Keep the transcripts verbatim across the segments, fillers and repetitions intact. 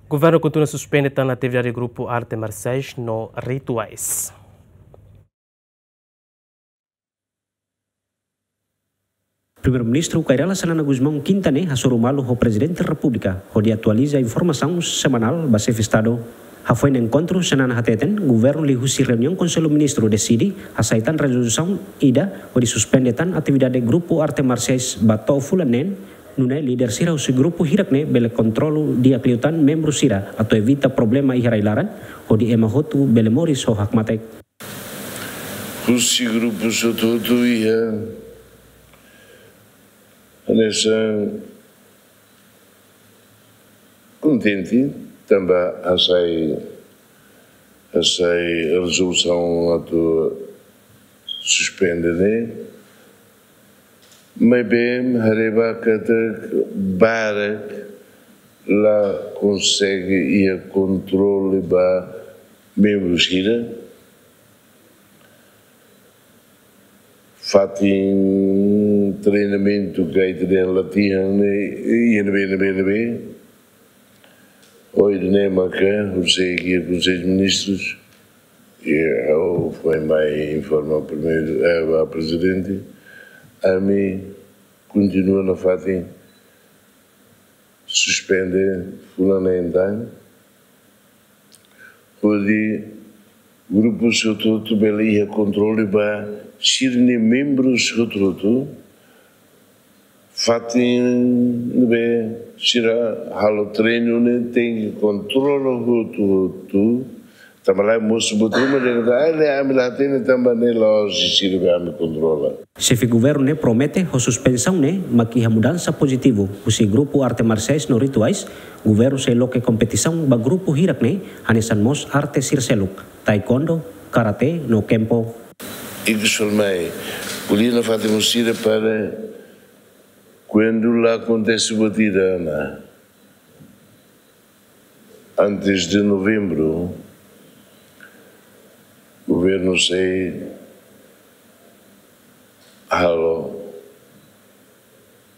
Governu kontinua suspende tan atividade grupu arte marsiais no rituais. Primeiru-Ministru Kay Rala Xanana Gusmão kinta ne'e hasoru malu ho Prezidente Repúblika hodi atualiza informasaun semanál ba Xefe Estadu. Hafoin enkontru, Xanana hateten, governu liuhusi reuniaun Konsellu Ministru deside hasai tan rezolusaun ida hodi suspende tan atividade grupu arte marsiais ba to'o fulan neen, nune'e líder sira husi grupu hirak ne'e bele kontrolu di'ak liután membru sira atu evita problema iha rai-laran, hodi ema hotu bele moris ho hakmatek. Husi grupu hotu-hotu iha hanesan kontente tanba hasai, hasai rezolusaun atu suspende ne'e. Maibé haree ba katak barak la konsege iha kontrolu ba membru sira. Fatin treinamentu ka ita dehan latihan ne'e, iha ne'ebé, ne'ebé, ne'ebé. Ohin ne'e maka husik iha Konsellu Ministrus, i ha'u foin mai informa primeiru, eh, ba Prezidente, ami kontinua nafatin suspende fulan neen tan, hodi grupu hotu-hotu bele iha kontrolu ba sira-nia membru hotu-hotu, fatin ne'ebé sira halo treinu ne'e tenke kontrola hotu-hotu. Tanba lae mosu buat ruma dehan katak, ah, ne'e ami la hatene tanba ne'e la'ós sira be ami kontrola. Xefe governu ne'e promete ho suspensaun ne'e mak iha mudansa pozitivu husi grupu arte marsiais no rituais, governu sei loke kompetisaun ba grupu hirak ne'e, hanesan mós arte sira seluk, taekwondo, karate no kempo. Ikus falmai, ko'alia nafatin ho sira para kuandu la akontese buat ida ona, antes de novembru, governu sei halo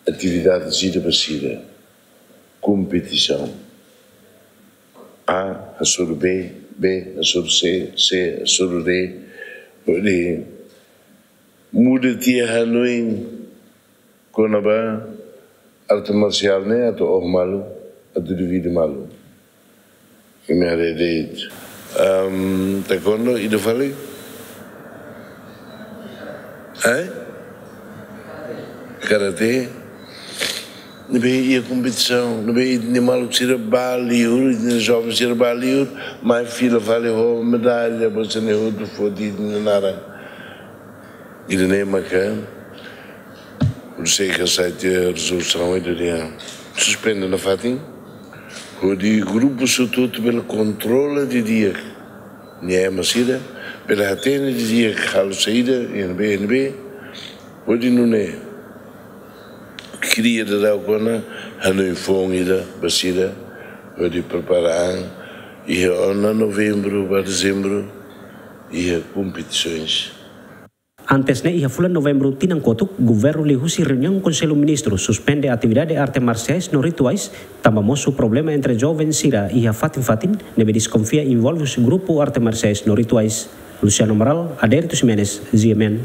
atividade sira ba sira, kompetisaun. A hasoru B, B hasoru C, C hasoru D. Hodi muda tiha hanoin kona-ba arte marsiál ne'e atu oho malu, atu divide malu. Imi haree de'it. Am, taekwondo, ida fali? Eh? Karate? Ne'ebé iha kompetisaun, ne'ebé ita-nia maluk sira ba liur, ita-nia joven sira ba liur, mai fila fali ho medalla, ba sira-ne'e hotu foti ita-nia naran. Ida-ne'e maka, Konsellu hasai tiha rezolusaun ida dehan suspende nafatin, hodi grupu hotu-hotu bele kontrola didi'ak nia ema sira, bele hatene didi'ak halo saida, iha ne'ebé, iha ne'ebé, hodi nune'e kria daudaun ona hanoin foun ida ba sira, hodi prepara an, iha ona novembru ba dezembru, iha kompetisoens. Antes ne'e, iha fulan novembru tinan kotuk, governu liuhusi reuniaun Konsellu Ministru suspende atividade arte marsiais no rituais, tanba mosu problema entre joven sira iha fatin-fatin, ne'ebé deskonfia envolve husi grupu arte marsiais no rituais. Luciano Amaral, Adérito Ximenes, G M N.